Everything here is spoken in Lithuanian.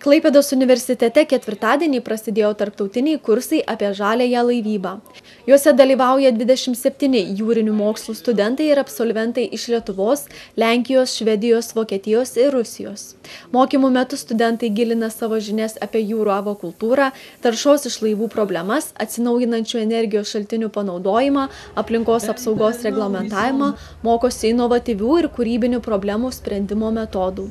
Klaipėdos universitete ketvirtadienį prasidėjo tarptautiniai kursai apie žaliąją laivybą. Juose dalyvauja 27 jūrinių mokslų studentai ir absolventai iš Lietuvos, Lenkijos, Švedijos, Vokietijos ir Rusijos. Mokymų metu studentai gilina savo žinias apie jūrų akvakultūrą, taršos iš laivų problemas, atsinaujinančių energijos šaltinių panaudojimą, aplinkos apsaugos reglamentavimą, mokosi inovatyvių ir kūrybinių problemų sprendimo metodų.